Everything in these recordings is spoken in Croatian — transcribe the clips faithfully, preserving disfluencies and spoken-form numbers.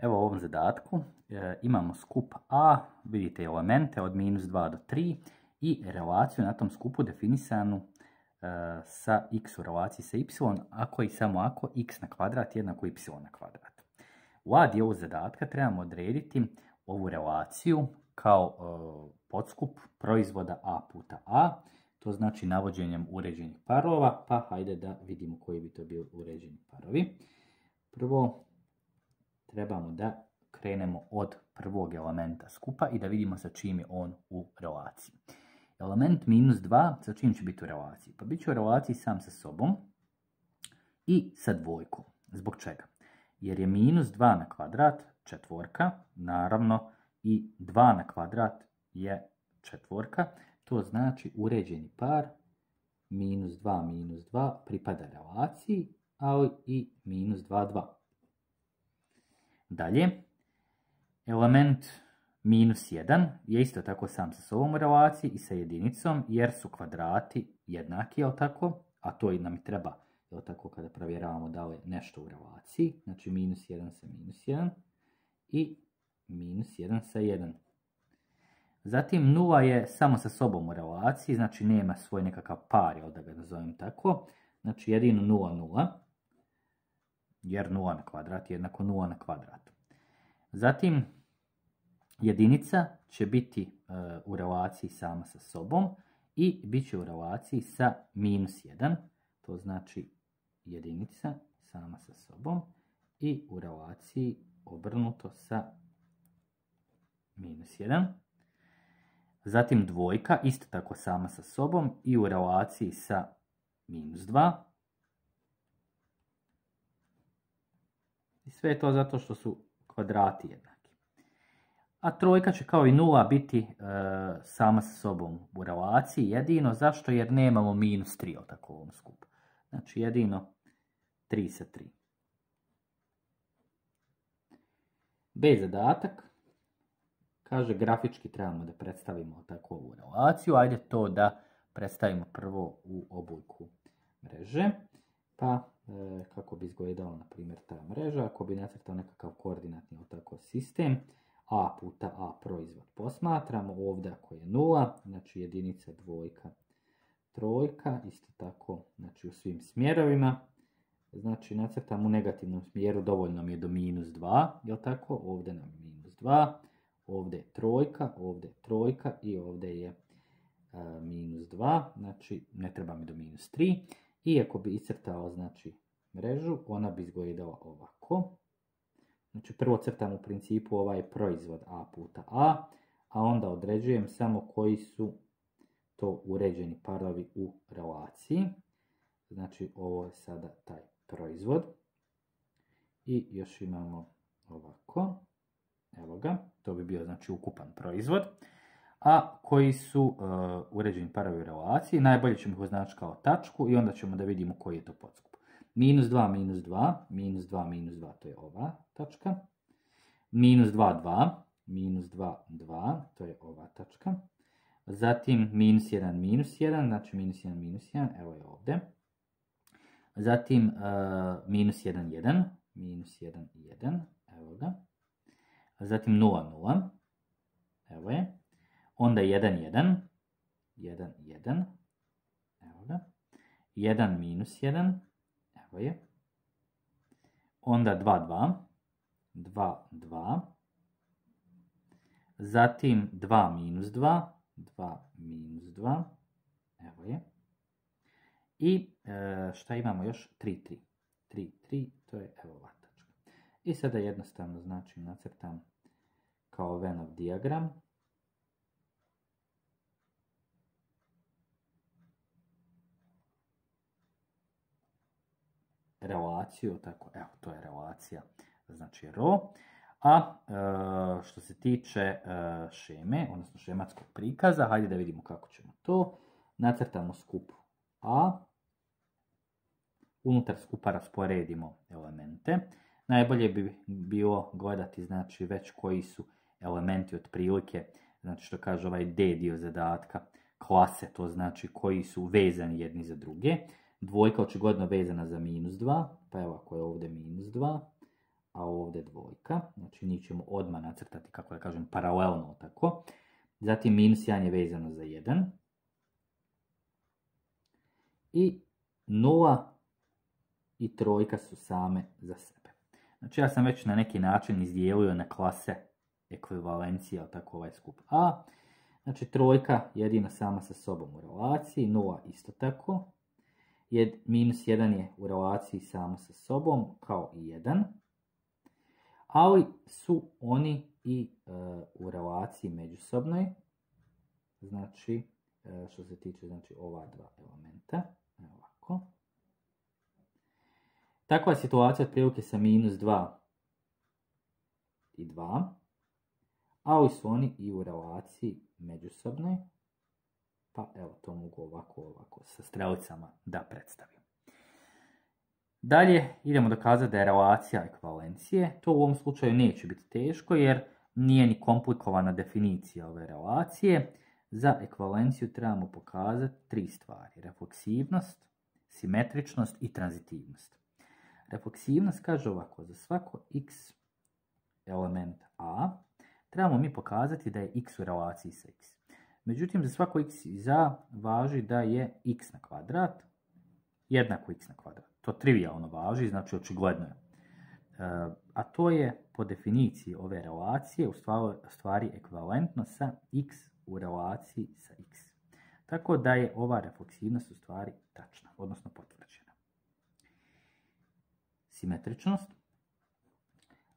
Evo u ovom zadatku e, imamo skup A, vidite elemente od minus dva do tri i relaciju na tom skupu definisanu e, sa x u relaciji sa y, ako i samo ako x na kvadrat jednako y na kvadrat. U A dijelu zadatka trebamo odrediti ovu relaciju kao e, podskup proizvoda A puta A, to znači navođenjem uređenih parova, pa hajde da vidimo koji bi to bili uređeni parovi. Prvo trebamo da krenemo od prvog elementa skupa i da vidimo sa čim je on u relaciji. Element minus dva sa čim će biti u relaciji? Pa bit će u relaciji sam sa sobom i sa dvojkom. Zbog čega? Jer je minus dva na kvadrat četvorka, naravno i dva na kvadrat je četvorka, to znači uređeni par minus dva minus dva pripada relaciji, ali i minus dva, dva. Dalje, element minus jedan je isto tako sam sa sobom u relaciji i sa jedinicom, jer su kvadrati jednaki, jel tako? A to i nam i treba, jel tako, kada provjeravamo da li je nešto u relaciji. Znači minus jedan sa minus jedan i minus jedan sa jedan. Zatim nula je samo sa sobom u relaciji, znači nema svoj nekakav par, jel da ga nazovem tako. Znači jedino nula, nula. Jer nula na kvadrat je jednako nula na kvadrat. Zatim, jedinica će biti e, u relaciji sama sa sobom i bit će u relaciji sa minus jedan, to znači jedinica sama sa sobom i u relaciji obrnuto sa minus jedan. Zatim dvojka, isto tako sama sa sobom i u relaciji sa minus dva. I sve je to zato što su kvadrati jednaki. A trojka će kao i nula biti e, sama sa sobom u relaciji jedino. Zašto? Jer nemamo minus tri u takovom skupu. Znači jedino tri sa tri. B zadatak. Kaže grafički trebamo da predstavimo tako ovu relaciju. Ajde to da predstavimo prvo u obojku mreže. Pa kako bi izgledala, na primjer, ta mreža, ako bi nacrtao nekakav koordinatni tako sistem, a puta a proizvod posmatramo, ovdje ako je nula, znači jedinica, dvojka, trojka, isto tako, znači u svim smjerovima, znači nacrtam u negativnom smjeru, dovoljno mi je do minus dva, jel tako, ovdje nam je minus dva, ovdje je trojka, ovdje je trojka i ovdje je a, minus dva, znači ne treba mi do minus tri. I ako bi iscrtao, znači, mrežu, ona bi izgledala ovako. Znači, prvo crtam u principu ovaj proizvod a puta a, a onda određujem samo koji su to uređeni parovi u relaciji. Znači, ovo je sada taj proizvod. I još imamo ovako. Evo ga, to bi bio, znači, ukupan proizvod. A koji su uh, uređeni parovi u relaciji, najbolje ćemo ih označiti kao tačku i onda ćemo da vidimo koji je to podskup. Minus dva, minus dva, minus dva, minus dva, to je ova tačka. Minus dva, dva, minus dva, dva, to je ova tačka. Zatim minus jedan, minus jedan, znači minus jedan, minus jedan, evo je ovdje. Zatim uh, minus jedan, jedan, minus jedan, jedan, evo ga. Zatim nula, nula, evo je. Onda jedan, jedan, jedan, jedan, evo ga, jedan minus jedan, evo je, onda dva, dva, dva, dva, zatim dva minus dva, dva minus dva, evo je, i e, šta imamo još? tri, tri, tri, tri, to je evo ova tačka. I sada jednostavno, znači, nacrtam kao Venn dijagram. Relaciju, tako, evo, to je relacija, znači ro. A e, što se tiče e, šeme, odnosno šematskog prikaza, hajde da vidimo kako ćemo to. Nacrtamo skup A, unutar skupa rasporedimo elemente. Najbolje bi bilo gledati, znači, već koji su elementi otprilike, znači što kaže ovaj D dio zadatka, klase, to znači koji su vezani jedni za druge. Dvojka očigledno vezana za minus dva, pa evo ako je ovdje minus dva, a ovdje dvojka. Znači njih ćemo odmah nacrtati, kako da kažem, paralelno tako. Zatim minus jedan je vezano za jedan. I nula i trojka su same za sebe. Znači ja sam već na neki način izdijelio na klase ekvivalencija, tako ovaj skup A. Znači trojka jedina sama sa sobom u relaciji, nula isto tako. Jed, minus jedan je u relaciji samo sa sobom, kao i jedan. Ali su oni i e, u relaciji međusobnoj. Znači, e, što se tiče znači, ova dva elementa. Ovako. Takva situacija otprilike sa minus dva i dva. Ali su oni i u relaciji međusobnoj. Pa evo, to mogu ovako, ovako, sa strelicama da predstavim. Dalje idemo dokazati da je relacija ekvivalencije. To u ovom slučaju neće biti teško jer nije ni komplikovana definicija ove relacije. Za ekvivalenciju trebamo pokazati tri stvari. Refleksivnost, simetričnost i tranzitivnost. Refleksivnost kaže ovako, za svako x element A trebamo mi pokazati da je x u relaciji sa x. Međutim, za svako x iz A važi da je x na kvadrat jednako x na kvadrat. To trivijalno važi, znači očigledno je. E, a to je po definiciji ove relacije u stvari ekvivalentno sa x u relaciji sa x. Tako da je ova refleksivnost u stvari tačna, odnosno potvrđena. Simetričnost.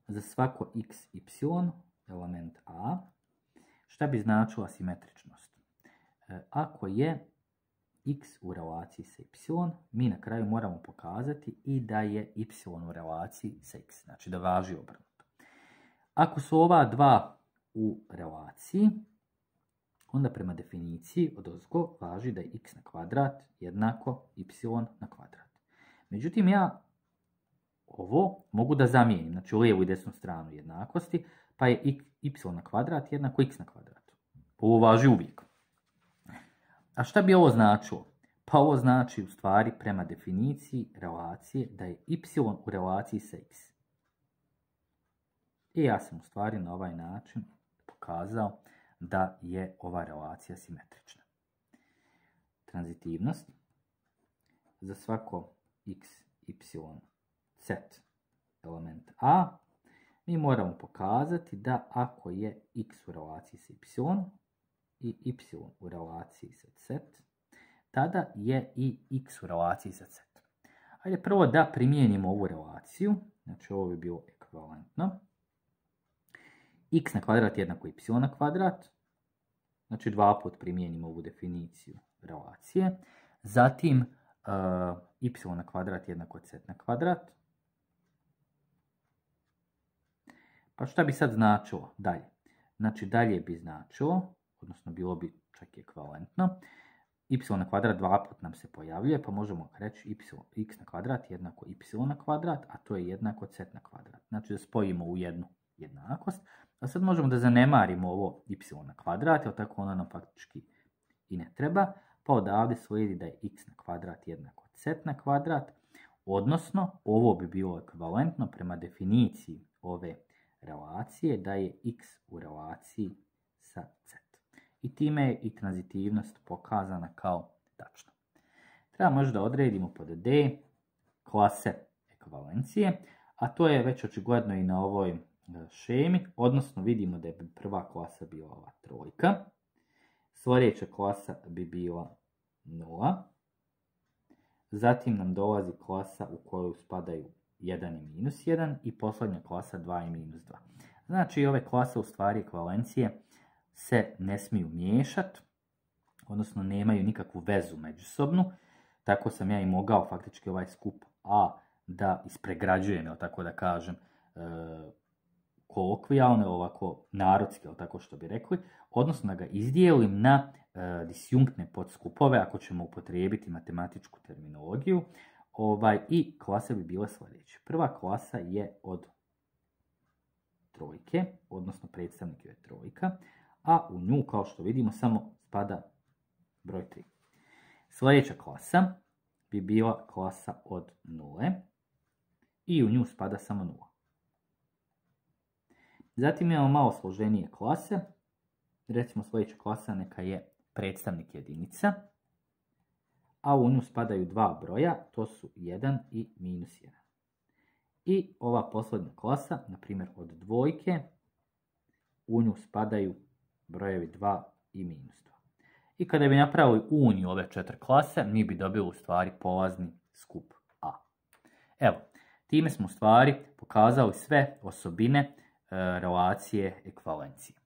Za svako x, y, element A, šta bi značila simetričnost? E, ako je x u relaciji sa y, mi na kraju moramo pokazati i da je y u relaciji sa x, znači da važi obrnuto. Ako su ova dva u relaciji, onda prema definiciji odozgo važi da je x na kvadrat jednako y na kvadrat. Međutim, ja ovo mogu da zamijenim, znači u lijevu i desnu stranu jednakosti, pa je y na kvadrat jednako x na kvadrat. Ovo važi uvijek. A šta bi ovo značilo? Pa ovo znači u stvari prema definiciji relacije da je y u relaciji sa x. I ja sam u stvari na ovaj način pokazao da je ova relacija simetrična. Tranzitivnost. Za svako x, y, z element A, mi moramo pokazati da ako je x u relaciji sa y i y u relaciji sa z, tada je i x u relaciji sa z. Ajde prvo da primijenimo ovu relaciju, znači ovo bi bilo ekvivalentno. X na kvadrat jednako y na kvadrat, znači dva put primijenimo ovu definiciju relacije. Zatim uh, y na kvadrat jednako z na kvadrat. Pa šta bi sad značilo dalje? Znači dalje bi značilo, odnosno bilo bi čak i ekvivalentno, y na kvadrat dva put nam se pojavljuje, pa možemo reći y, x na kvadrat jednako y na kvadrat, a to je jednako z na kvadrat. Znači da spojimo u jednu jednakost. A sad možemo da zanemarimo ovo y na kvadrat, jer tako ono nam faktički i ne treba, pa odavde slijedi da je x na kvadrat jednako z na kvadrat, odnosno ovo bi bilo ekvivalentno prema definiciji ove relacije da je x u relaciji sa z. I time je i tranzitivnost pokazana kao tačna. Treba možda odredimo pod D klase ekvivalencije, a to je već očigledno i na ovoj šemi, odnosno vidimo da je prva klasa bila ova trojka, sljedeća klasa bi bila nula, zatim nam dolazi klasa u koju spadaju jedan i minus jedan i posljednja klasa dva i minus dva. Znači ove klase u stvari ekvivalencije se ne smiju miješati, odnosno nemaju nikakvu vezu međusobnu, tako sam ja i mogao faktički ovaj skup A da ispregrađujem, jel tako da kažem, e, kolokvijalno, ovako narodski, jel tako što bi rekli, odnosno da ga izdijelim na e, disjunktne podskupove, ako ćemo upotrijebiti matematičku terminologiju, ovaj, i klase bi bile sljedeće. Prva klasa je od trojke, odnosno predstavnik je trojka, a u nju, kao što vidimo, samo spada broj tri. Sljedeća klasa bi bila klasa od nule i u nju spada samo nula. Zatim imamo malo složenije klase. Recimo sljedeća klasa neka je predstavnik jedinica, a u nju spadaju dva broja, to su jedan i minus jedan. I ova posljednja klasa, na primjer od dvojke, u nju spadaju brojevi dva i minus dva. I kada bi napravili uniju ove četiri klase, mi bi dobili u stvari polazni skup A. Evo, time smo u stvari pokazali sve osobine e, relacije ekvivalencije.